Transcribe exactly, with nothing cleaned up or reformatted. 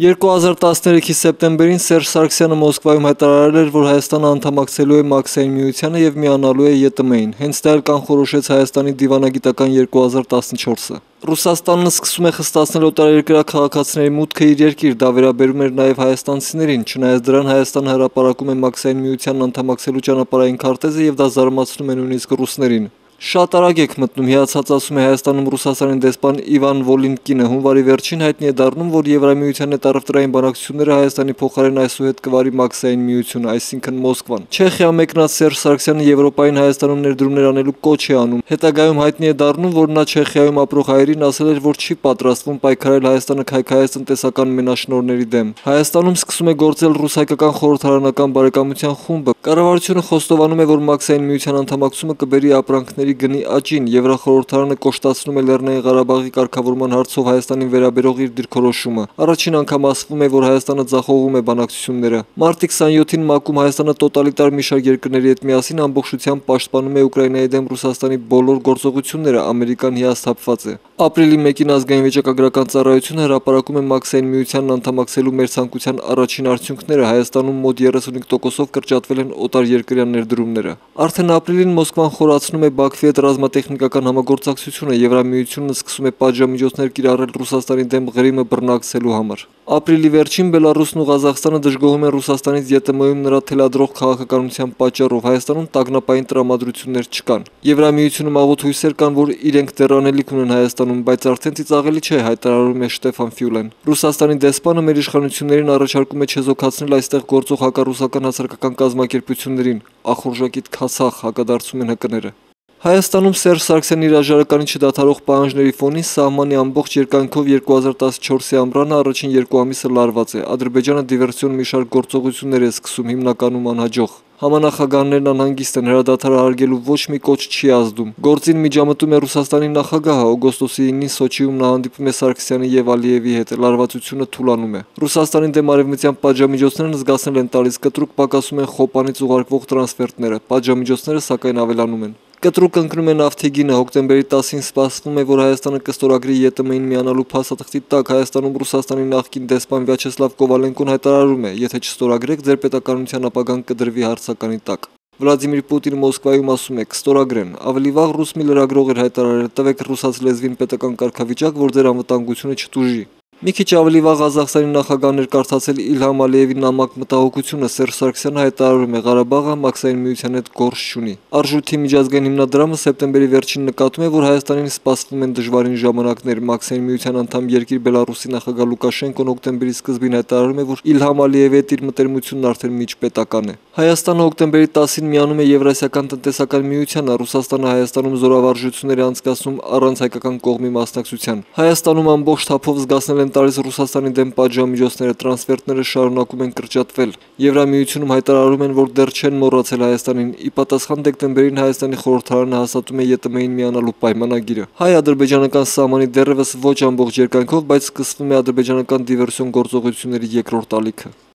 երկու հազար տասներեքի սեպտեմբերին Սերժ Սարգսյանը Մոսկվայում հայտարարել էր, որ Հայաստանը անդամակցելու է Մաքսային միությանը և միանալու է ԵՏՄ-ին, հենց դա էլ կանխորոշեց Հայաստանի դիվանագիտական երկու հազար տասնչորսը։ Ռուսաստանն սկսում է խստացնել օտարերկրյա քաղաքացիների մուտքը իր երկիր, դա վերաբերում էր նաև հայաստանցիներին, չնայած դրան Հայաստանը հրապարակում է Մաքսային միությանն անդամակցելու ճանապարհային քարտեզը և դա զարմացնում է նույնիսկ ռուսներին։ Շատ արագ եք մտնում, հիացած ասում է Հայաստանում Ռուսաստանի դեսպան Իվան Վոլինկինը, հունվարի վերջին հայտնի է դառնում, որ Եվրամիության հետ առևտրային բանակցությունները Հայաստանի փոխարեն այսուհետ կվարի Մաքսային միությունը, այսինքն Մոսկվան։ Չեխիա մեկնած Սերժ Սարգսյանը Եվրոպային Հայաստանում ներդրումներ անելու կոչ է անում։ Հետագայում հայտնի է դառնում, որ նա Չեխիայում ապրող հայերին ասել էր, որ չի պատրաստվում պայքարել Հայաստանը քայքայած տնտեսական մենաշնորհների դեմ։ Հայաստանում սկսում է գործել ռուս-հայկական խորհրդարանական բարեկամության խումբը։ Կառավարությունը խոստովանում է, որ Մաքսային միության անդամակցումը կբերի ապրանքների գնի աճին, Եվրախորհրդարանը կոշտացնում է Լեռնային Ղարաբաղի կարգավորման հարցով Հայաստանին վերաբերող իր դիրքորոշումը։ Առաջին անգամ ասվում է, որ Հայաստանը ձախողում է բանակցությունները։ Մարտի քսաներկուին ՄԱԿ-ում Հայաստանը տոտալիտար մի շարք երկրների հետ միասին ամբողջությամբ պաշտպանում է Ուկրաինայի դեմ Ռուսաստանի բոլոր գործողությունները, Ամերիկան հիասթափված է։ Ապրիլի մեկին ազգային վիճակագրական ծառայությունը հրապարակում է Մաքսային միությանն անդամակցելու մեր ցանկության առաջին արդյունքները, Հայաստանում մոտ երեսունհինգ տոկոսով կրճատվել են օտարերկրյա ներդրումները։ Արդեն ապրիլին Մոսկվան խորացնում է Բաքվի հետ ռազմատեխնիկական համագործակցությունը, Եվրամիությունն սկսում է պատժամիջոցներ կիրառել Ռուսաստանի դեմ Ղրիմը բռնակցելու համար։ Ապրիլի վերջին Բելարուսն ու Ղազախստանը դժգոհում են Ռուսաստանից ԵՏՄ-ում նրա թելադրող քաղաքականության պատճառով, Հայաստանում տագնապային տրամադրություններ չկան։ Եվրամիությունում աղոտ հույսեր կան, որ իրենք դեռ անելիք ունեն Հայաստանում, բայց արդեն ծիծաղելի չէ, հայտարարում է Շտեֆան Ֆյուլեն։ Ռուսաստանի դեսպանը մեր իշխանություններին առաջարկում է չեզոքացնել այստեղ գործող հակառուսական հասարակական կազմակերպություններին, ախորժակիտ քասախ, հակադարձում են ՀԿ-ները։ Հայաստանում Սերժ Սարգսյանի հրաժարականի չդադարող պահանջների ֆոնին սահմանի ամբողջ երկայնքով երկու հազար տասնչորսի ամռանը առաջին երկու ամիսը լարված է։ Ադրբեջանը դիվերսիոն մի շարք գործողություններ է սկսում, հիմնականում անհաջող։ Համանախագահներն անհանգիստ են, հրադադարը հարգելու ոչ մի կոչ չի ազդում։ Գործին միջամտում է Ռուսաստանի նախագահը, օգոստոսի ինին Սոչիում նա հանդիպում է Սարգսյանի եւ Ալիևի հետ, լարվածությունը թուլանում է։ Ռուսաստանի դեմ արևմտյան պատժամիջոցներն զգացնել են տալիս, կտրուկ պակասում են Խոպանից ուղարկվող տրանսֆերտները, պատժամիջոցները սակայն ավելանում են։ Կտրուկ ընկնում է նավթեգինը, հոկտեմբերի տասին սպասվում է, որ Հայաստանը կստորագրի ԵՏՄ-ին միանալու փաստաթղթի տակ, Հայաստանում Ռուսաստանի նախկին դեսպան Վյաչեսլավ Կովալենկոն հայտարարում է, եթե չստորագրեք, ձեր պետականության ապագան կդրվի հարցականի տակ։ Վլադիմիր Պուտինը Մոսկվայում ասում է, կստորագրեն, ավելի վաղ ռուս մի լրագրող էր հայտարարել, տվեք ռուսաց լեզվին պետական կարգավիճակ, որ ձեր անվտանգությունը չտուժի։ Մի քիչ ավելի վաղ Ղազախստանի նախագահն էր կարդացել Իլհամ Ալիևի նամակ մտահոգությունը, Սերժ Սարգսյանը հայտարարում է, Ղարաբաղը Մաքսային միության հետ գործ չունի։ Արժույթի միջազգային հիմնադրամը սեպտեմբերի վերջին նկատում է, որ Հայաստանին սպասվում են դժվարին ժամանակներ։ Մաքսային միության անդամ երկիր Բելարուսի նախագահ Լուկաշենկոն հոկտեմբերի սկզբին հայտարարում է, որ Իլհամ Ալիևի հետ իր մտերմությունն արդեն միջպետական է։ Հայաստանը հոկտեմբերի տասին միանում է Եվրասիական տնտեսական միությանը, Ռուսաստանը Հայաստանում զորավարժություններ է անցկացնում առանց հայկական կողմի մասնակցության։ Հայաստանում ամբողջ թափով զգացնել են տալիս Ռուսաստանի դեմ պատժամիջոցները, տրանսֆերտները շարունակում են կրճատվել։ Եվրամիությունում հայտարարում են, որ դեռ չեն մոռացել Հայաստանին։ Ի պատասխան դեկտեմբերին Հայաստանի խորհրդարանը հաստատում է ԵՏՄ-ին միանալու պայմանագիրը։ Հայ-ադրբեջանական սահմանի դեռևս ոչ ամբողջ երկայնքով, բայց սկսվում է ադրբեջանական դիվերսիոն գործողությունների երկրորդ ալիքը։